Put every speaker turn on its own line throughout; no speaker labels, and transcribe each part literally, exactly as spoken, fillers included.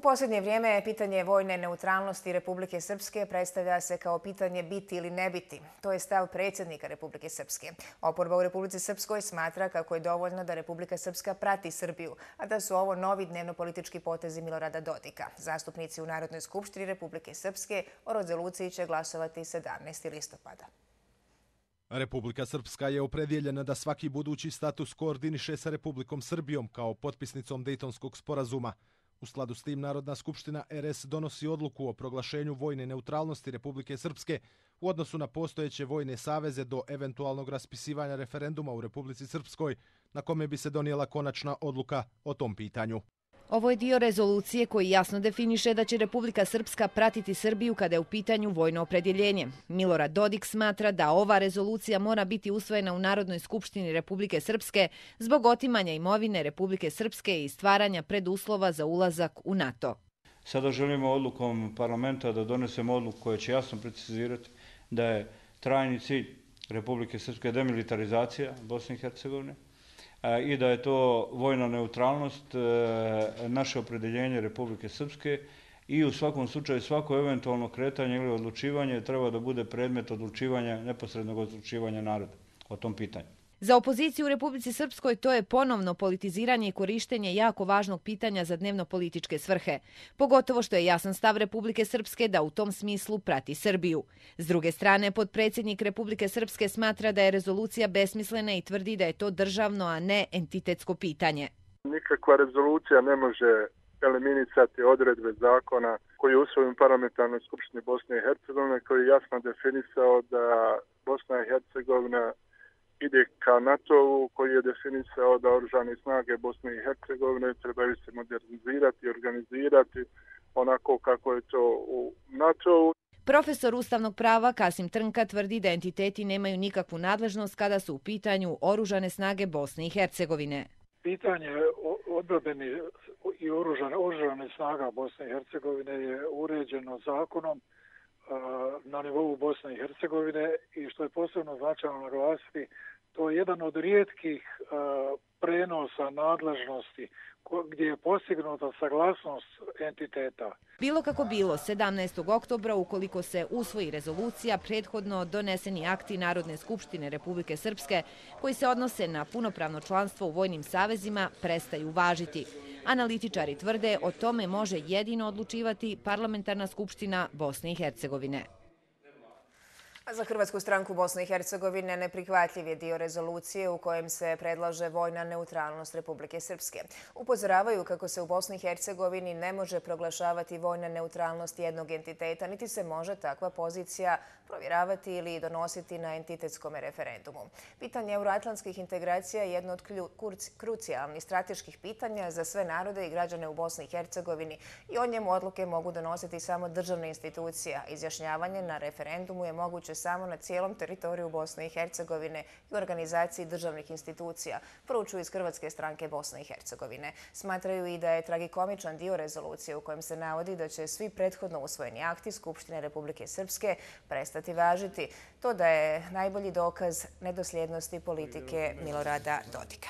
posljednje vrijeme pitanje vojne neutralnosti Republike Srpske predstavlja se kao pitanje biti ili ne biti. To je stav predsjednika Republike Srpske. Oporba u Republici Srpskoj smatra kako je dovoljno da Republika Srpska prati Srbiju, a da su ovo novi dnevnopolitički potezi Milorada Dodika. Zastupnici u Narodnoj skupštini Republike Srpske o rezoluciji će glasovati sedamnaestog listopada.
Republika Srpska je opredjeljena da svaki budući status koordiniše sa Republikom Srbijom kao potpisnicom Dejtonskog sporazuma. U skladu s tim Narodna skupština R S donosi odluku o proglašenju vojne neutralnosti Republike Srpske u odnosu na postojeće vojne saveze do eventualnog raspisivanja referenduma u Republici Srpskoj, na kome bi se donijela konačna odluka o tom pitanju.
Ovo je dio rezolucije koji jasno definiše da će Republika Srpska pratiti Srbiju kada je u pitanju vojno opredjeljenje. Milorad Dodik smatra da ova rezolucija mora biti usvojena u Narodnoj skupštini Republike Srpske zbog otimanja imovine Republike Srpske i stvaranja preduslova za ulazak u NATO.
Sada želimo odlukom parlamenta da donesemo odluku koja će jasno precizirati da je trajni cilj Republike Srpske demilitarizacija Bosne i Hercegovine i da je to vojna neutralnost, naše opredjeljenje Republike Srpske i u svakom slučaju svako eventualno kretanje ili odlučivanje treba da bude predmet odlučivanja, neposrednog odlučivanja naroda o tom pitanju.
Za opoziciju u Republici Srpskoj to je ponovno politiziranje i korištenje jako važnog pitanja za dnevno-političke svrhe, pogotovo što je jasan stav Republike Srpske da u tom smislu prati Srbiju. S druge strane, potpredsjednik Republike Srpske smatra da je rezolucija besmislena i tvrdi da je to državno, a ne entitetsko pitanje.
Nikakva rezolucija ne može eliminisati odredbe zakona koji je usvojen u parlamentarnoj skupštini Bosne i Hercegovine, koji je jasno definisao da Bosna i Hercegovina ide ka NATO-u, koji je definisao da oružane snage Bosne i Hercegovine trebaju se modernizirati i organizirati onako kako je to u NATO-u.
Profesor ustavnog prava Kasim Trnka tvrdi da entiteti nemaju nikakvu nadležnost kada su u pitanju oružane snage Bosne i Hercegovine.
Pitanje odbrambeni i oružane snaga Bosne i Hercegovine je uređeno zakonom na nivou Bosne i Hercegovine i što je posebno značajno naglasiti, to je jedan od rijetkih prenosa nadležnosti gdje je postignuta saglasnost entiteta.
Bilo kako bilo, sedamnaestog oktobra, ukoliko se usvoji rezolucija, prethodno doneseni akti Narodne skupštine Republike Srpske koji se odnose na punopravno članstvo u vojnim savezima prestaju važiti. Analitičari tvrde o tome može jedino odlučivati Parlamentarna skupština Bosne i Hercegovine.
Za Hrvatsku stranku Bosne i Hercegovine neprihvatljiv je dio rezolucije u kojem se predlaže vojna neutralnost Republike Srpske. Upozoravaju kako se u Bosni i Hercegovini ne može proglašavati vojna neutralnost jednog entiteta, niti se može takva pozicija provjeravati ili donositi na entitetskom referendumu. Pitanje euroatlantskih integracija je jedno od krucijalnih strateških pitanja za sve narode i građane u Bosni i Hercegovini i o njemu odluke mogu donositi samo državne institucije. Izjašnjavanje na referendumu je moguće samo na cijelom teritoriju Bosne i Hercegovine i organizaciji državnih institucija, poručuju iz Hrvatske stranke Bosne i Hercegovine. Smatraju i da je tragikomičan dio rezolucije u kojem se navodi da će svi prethodno usvojeni akti Skupštine Republike Srpske prestati važiti. To da je najbolji dokaz nedosljednosti politike Milorada Dodika.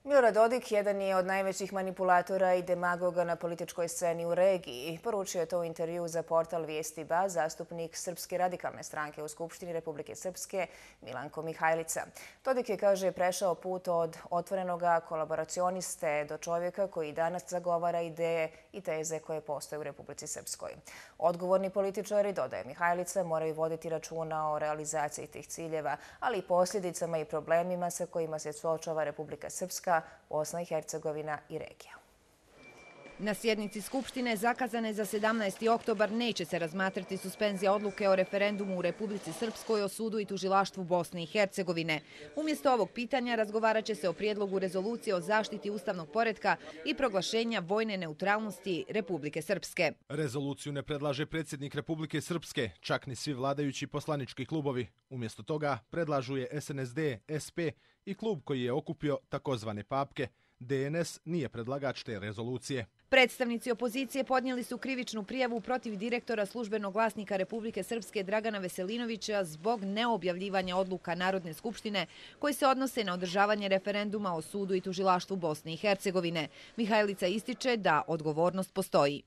Milorad Dodik jedan je od najvećih manipulatora i demagoga na političkoj sceni u regiji. Poručio je to u intervju za portal Vijesti Ba zastupnik Srpske radikalne stranke u Skupštini Republike Srpske Milanko Mihajlica. Dodik je, kaže, prešao put od otvorenoga kolaboracioniste do čovjeka koji danas zagovara ideje i teze koje postoje u Republici Srpskoj. Odgovorni političari, dodaje Mihajlica, moraju voditi računa o realizaciji tih ciljeva, ali i posljedicama i problemima sa kojima se suočava Republika Srpska, Bosna i Hercegovina i regija.
Na sjednici Skupštine zakazane za sedamnaesti oktobar neće se razmatrati suspenzija odluke o referendumu u Republici Srpskoj o sudu i tužilaštvu Bosne i Hercegovine. Umjesto ovog pitanja razgovarat će se o prijedlogu rezolucije o zaštiti ustavnog poretka i proglašenja vojne neutralnosti Republike Srpske.
Rezoluciju ne predlaže predsjednik Republike Srpske, čak ni svi vladajući poslanički klubovi. Umjesto toga predlažu je S N S D, S P i klub koji je okupio takozvane papke. D N S nije predlagač te rezolucije.
Predstavnici opozicije podnijeli su krivičnu prijavu protiv direktora službenog glasnika Republike Srpske Dragana Veselinovića zbog neobjavljivanja odluka Narodne skupštine koji se odnose na održavanje referenduma o sudu i tužilaštvu Bosne i Hercegovine. Mihajlica ističe da odgovornost postoji.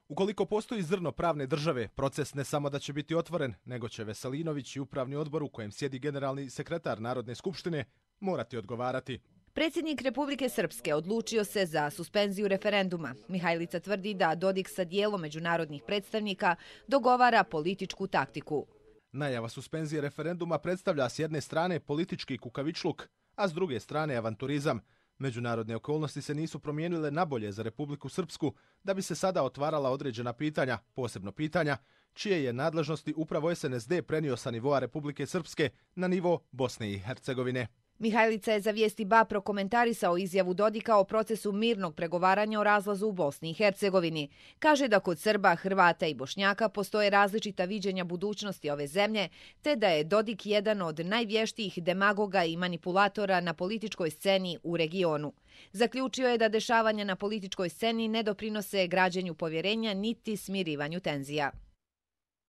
Ukoliko postoji zrno pravne države, proces ne samo da će biti otvoren, nego će Veselinović i upravni odbor u kojem sjedi generalni sekretar Narodne skupštine morati odgovarati.
Predsjednik Republike Srpske odlučio se za suspenziju referenduma. Mihajlica tvrdi da Dodik sa dijelom međunarodnih predstavnika dogovara političku taktiku.
Najava suspenzije referenduma predstavlja s jedne strane politički kukavičluk, a s druge strane avanturizam. Međunarodne okolnosti se nisu promijenile nabolje za Republiku Srpsku da bi se sada otvarala određena pitanja, posebno pitanja, čije je nadležnosti upravo S N S D prenio sa nivoa Republike Srpske na nivo Bosne i Hercegovine.
Mihajlica je za vijesti B A prokomentarisao izjavu Dodika o procesu mirnog pregovaranja o razlazu u Bosni i Hercegovini. Kaže da kod Srba, Hrvata i Bošnjaka postoje različita viđenja budućnosti ove zemlje, te da je Dodik jedan od najvještijih demagoga i manipulatora na političkoj sceni u regionu. Zaključio je da dešavanja na političkoj sceni ne doprinose građenju povjerenja niti smirivanju tenzija.